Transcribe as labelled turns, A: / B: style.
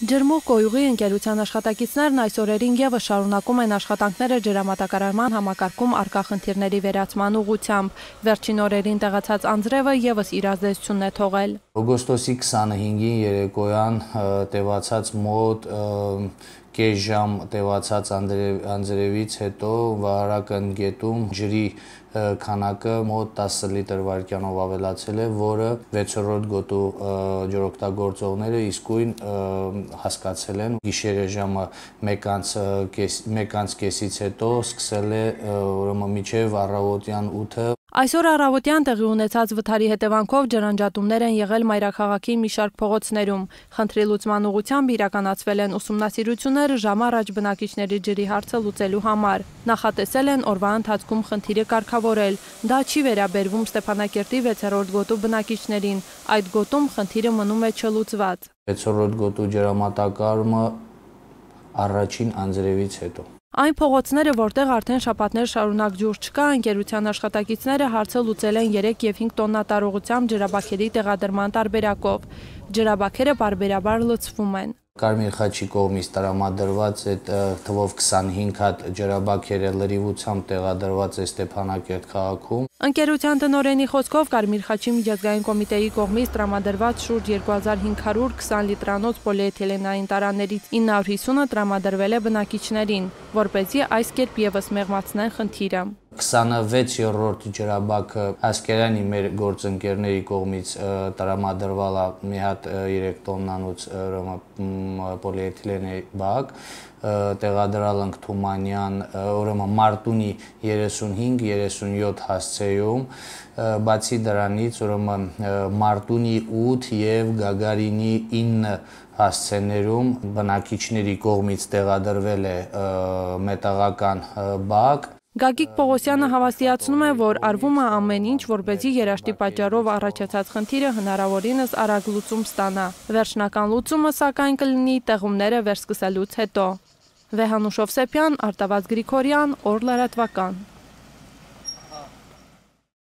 A: Ջրմուղ կոյուղի ընկերության աշխատակիցներն այս օրերին ևս շարունակում են աշխատանքները ջրամատակարարման համակարգում առկա խնդիրների վերացման ուղղությամբ։ Վերջին օրերին տեղացած անձրևը ևս իր ազդեցությունն է թողել։
B: Օգոստոսի 25-ին երեկոյան տևացած մոտ կես ժամ տևացած անձրևից հետո վարակն գետում ջրի քանակը մոտ 10 լիտր վայրկյանով ավելացել է, որը 6-րդ գոտու ջրօգտագործողները իսկույն հասկացել են։ Գիշերը ժամը 1:30-ից հետո սկսել է մինչև առավոտյան 8-ը։
A: Այսօր առավոտյան տեղի ունեցած վթարի հետևանքով ջրանջատումներ են եղել մայրաքաղաքի մի շարք փողոցներում։ Խնդրի լուծման ուղղությամբ իրականացվել են ուսումնասիրություններ ժամ առաջ բնակիչների ջրի հարցը լուծելու համար։ Նախատեսել են օրվա ընթացքում խնդիրը կարգավորել։ Դա չի վերաբերվում Ստեփանակերտի 6-րդ գոտու բնակիչներին։ Այդ գոտում խնդիրը մնում է չլուծված։
B: 6-րդ գոտու ջրամատակարարումը առաջին անձրևից հետո։
A: Այն փողոցները, որտեղ արդեն շաբաթներ շարունակ ջուր չկա, ընկերության աշխատակիցները հարցը լուծել են 3 և 5 տոննա տարողությամբ ջրաբաքերի տեղադրման տարբերակով։ Ջրաբաքերը պարբերաբար լցվում են։
B: Կարմիր խաչի կողմից տրամադրված այդ թվով 25 հատ ջրաբաքերը լրիվությամբ տեղադրված է Ստեփանակերտ քաղաքում։
A: Ընկերության տնօրենի խոսքով Կարմիր խաչի միջազգային կոմիտեի կողմից տրամադրված շուրջ 2520 լիտրանոց պոլիէթիլենային տարաներից 950-ը տրամադրվել է բնակիչներին, որպեսզի այս կերպ ևս մեղմացնեն խնդիրը։
B: 26-րդ ջրաբաքը Ասկերանի մեր գործընկերների կողմից տրամադրվել է մի հատ 3 տոննանոց պոլիէթիլենի բակ, տեղադրել ենք Թումանյան, ուրեմն Մարտունի 35-37 հասցեում, բացի դրանից ուրեմն Մարտունի 8 և Գագարինի 9 հասցեներում բնակիչների կողմից տեղադրվել է մետաղական բակ։
A: Գագիկ Պողոսյանը հավաստիացնում է, որ արվում է ամեն ինչ, որպեսզի երաշտի պատճառով առաջացած խնդիրը հնարավորինս արագ լուծում ստանա։ Վերջնական լուծումը, սակայն, կլինի տեղումները վերսկսելուց հետո։ Վեհանուշ Հովսեփյան, Արտավազդ Գրիգորյան, Օր լրատվական։